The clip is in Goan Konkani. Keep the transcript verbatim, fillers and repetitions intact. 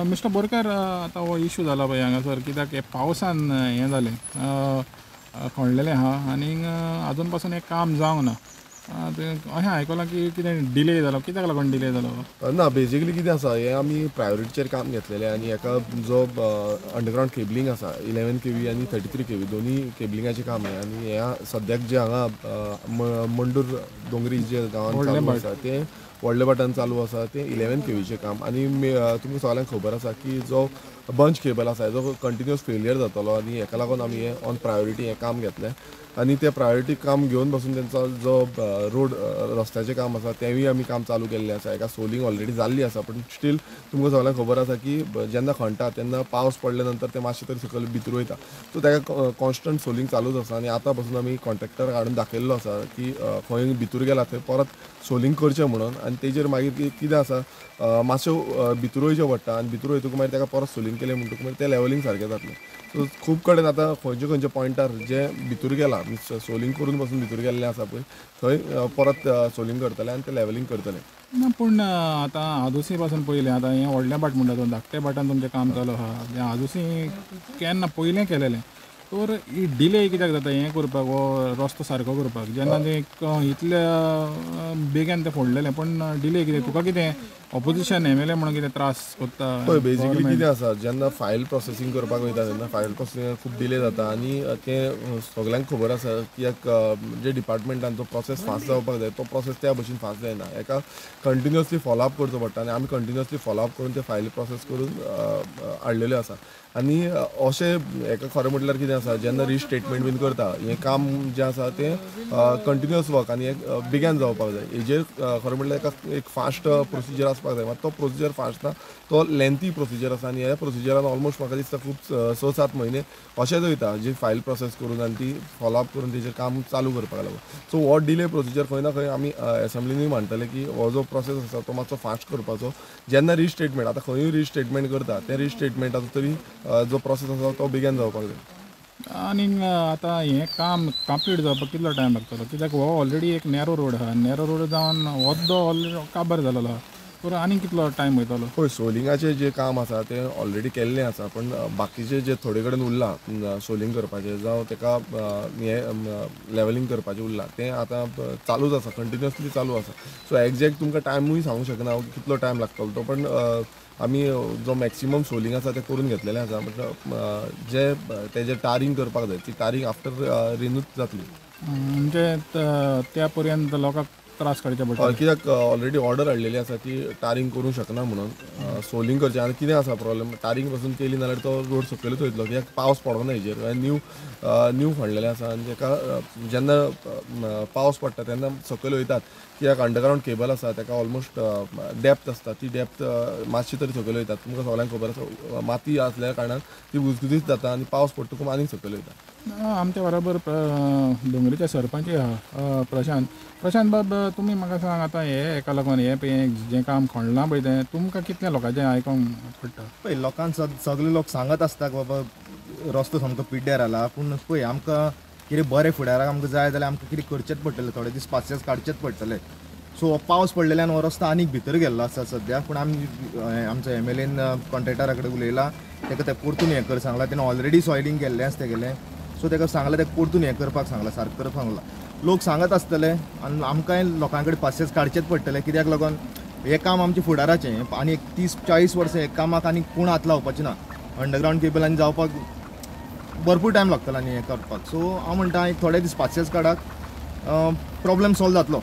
मिस्टर बोरकर, आतां हो इशू जाला पळय हांगासर, कित्याक हे पावसान हें जालें, खणलेलें आहा आनीक आजून पासून हें काम जावंक ना. अशें आयकलां की कितें डिले जालो, कित्याक लागून डिले जालो? ना, बेजिकली कितें आसा, हें आमी प्रायोरिटीचेर काम घेतलेलें आनी हेका जो अंडरग्रावंड केबलिंग आसा इलेवन के व्ही आनी थर्टी थ्री के व्ही दोनूय केबलिंगाचें काम हें. आनी हें सद्याक जें हांगा मंडूर दोंगरी जे गांवांत चालू आसा तें व्हडल्या भाटान चालू आसा तें इलेवन के व्हीचें काम. आनी तुमकां सगळ्यांक खबर आसा की जो बंच केबल आसा हेजो कंटिन्युअस फेलियर जातालो आनी हेका लागून आमी हें ऑन प्रायोरिटी हें काम घेतलें. आनी तें प्रायोरिटी काम घेवन बसून तेंचो जो रोड रस्त्याचें काम आसा तेंवूय आमी काम चालू केल्लें आसा. हेका सोलिंग ऑलरेडी जाल्ली आसा, पूण स्टील तुमकां सगळ्यांक खबर आसा की जेन्ना खणटा तेन्ना पावस पडले नंतर तें मातशें तरी सकयल भितर वयता, सो तेका कॉन्स्टंट सोलिंग चालूच आसा. आनी आतां पासून आमी कॉन्ट्रॅक्टर हाडून दाखयल्लो आसा की खंय भितर गेला थंय परत सोलिंग करचें म्हणून. आनी तेजेर मागीर कितें आसा मातशें भितर वयचें पडटा आनी भितर वयतकूच मागीर तेका परत सोलिंग केलें म्हणटकूच मागीर तें लेवलिंग सारकें जातलें. सो खूब कडेन आतां खंयचे खंयचे पॉयंटार जे भितर गेला सोलिंग करून पासून भितर गेल्लें आसा पळय थंय परत सोलिंग करतले आनी तें लेवलिंग करतले. ना, पूण आतां आदोसी पासून पयलें आतां हें व्हडलें भाट म्हणटा तो धाकटे भाटान तुमचें काम चालू आहा, आदोसी केन्ना पयलें केलेलें तर ही डिले कित्याक जाता हें करपाक, हो रस्तो सारको करपाक? जेन्ना तें इतल्या बेगीन तें फोडलेलें पूण डिले कितें? तुका कितें ऑपोजिशन एम एल ए म्हणून कितें त्रास करता? पळय, बेजिकली कितें आसा, जेन्ना फायल प्रोसेसींग करपाक वयता तेन्ना फायल प्रोसेसिंग खूब डिले जाता आनी तें सगल्यांक खबर आसा की एक जे डिपार्टमेंटान जो प्रोसेस फास्ट जावपाक जाय तो प्रोसेस त्या भशेन फास्ट जायना. हेका कंटिन्युअसली फॉलोअप करचो पडटा आनी आमी कंटिन्युअसली फॉलोअप करून ते फायल प्रोसेस करून हाडलेल्यो आसा. आनी अशें हेका खरें म्हटल्यार कितें आसा, जेन्ना रिस्टेटमेंट बीन करता हें काम जें आसा तें कंटिन्युअस वर्क आनी एक बेगीन जावपाक जाय. हेजेर खरें म्हटल्यार एका एक फास्ट प्रोसिजर आसपाक जाय, मात तो प्रोसिजर फास्ट ना, तो लेंथी प्रोसिजर आसा. आनी ह्या प्रोसिजरान ऑलमोस्ट म्हाका दिसता खूब स सात म्हयने अशेंच वयता जी फायल प्रोसेस करून आनी ती फॉलोअप करून तेजेर काम चालू करपाक लागून. सो हो डिले प्रोसिजर खंय ना खंय आमी एसेंब्लीनूय मांडटले की हो जो प्रोसेस आसा तो मातसो फास्ट करपाचो. जेन्ना रिस्टेटमेंट आतां खंयूय रिस्टेटमेंट करता तें रिस्टेटमेंटाचो तरी जो प्रोसेस आसा तो बेगीन जावपाक जाय. आनीक आतां हें काम कंप्लीट जावपाक कितलो टायम लागतलो? कित्याक हो ऑलरेडी एक नॅरो रोड आहा, नॅरो रोड जावन हो ऑलरेडी काबार जालेलो आहा, तर आनीक कितलो टायम वयतलो? पळय, सोलिंगाचें जें काम आसा तें ऑलरेडी केल्लें आसा, पूण बाकीचें जें थोडे कडेन उरलां सोलिंग करपाचें जावं तेका हें लेवलिंग करपाचें उरलां तें आतां चालूच आसा, कंटिन्युअसली चालू आसा. सो एग्जॅक्ट तुमकां टायमूय सांगूंक शकना हांव कितलो टायम लागतलो तो, पण आमी जो मॅक्सिमम सोलिंग आसा तें करून घेतलेलें आसा. बट जे तेजें टारींग करपाक जाय ती टारींग आफ्टर रेनूच जातली, म्हणजे त्या पर्यंत लोकांक त्रास काडचे पडटा. कित्याक ऑलरेडी ऑर्डर हाडलेली आसा की टारींग करूंक शकना म्हणून सोलिंग करचें. आनी कितें आसा प्रॉब्लम, टारींग पासून केली नाल्यार तो रोड सकयलूच वयतलो, कित्याक पावस पडना हेजेर, न्यू न्यू खणलेलें आसा आनी तेका जेन्ना पावस पडटा तेन्ना सकयल वयतात, कित्याक अंडरग्रावंड केबल आसा तेका ऑलमोस्ट डेप्थ आसता, ती डेप्थ मातशी तरी सकयल वयतात. तुमकां सगळ्यांक खबर आसा माती आसल्या कारणान ती गुजगुजीत जाता आनी पावस पडटकूच आनीक सकयल वयता. आमच्या बरोबर दोंगरीचे सरपंच आहा प्रशांत. प्रशांत बाब, तुमी म्हाका सांग आतां हे हेका लागून हें जें काम खणलां पळय तें तुमकां कितल्या लोकांचें आयकोंक पडटा? पळय, लोकांक सगळे लोक सांगत आसता बाबा रस्तो सामको पिड्ड्यार जाला, पूण पळय आमकां कितें बरें फुडाराक आमकां जाय जाल्यार आमकां कितें करचेंच पडटलें, थोडे दीस पासियेंस काडचेच पडटलें. सो पावस पडलेल्यान हो रस्तो आनीक भितर गेल्लो आसा सद्या, पूण आमी आमचो एम एल एन कॉन्ट्रॅक्टरा कडेन उलयला, ताका तें परतून हें कर सांगलां, तेणें ऑलरेडी सॉयलिंग केल्लें आसा तेगेलें, सो ताका सांगलां तेका परतून हें करपाक सांगलां, सारकें करपाक सांगलां. लोक सांगत आसतले आनी आमकांय लोकां कडेन पासियेंस काडचेंच पडटलें, कित्याक लागून हें काम आमचें फुडाराचें आनी एक तीस चाळीस वर्सां हे कामाक आनी कोण हात लावपाचें ना. अंडरग्रावंड केबल आनी जावपाक भरपूर टायम लागतलो आनी हें करपाक. सो हांव म्हणटा एक थोडे दीस पासियेंस काडात, प्रॉब्लम सॉल्व जातलो.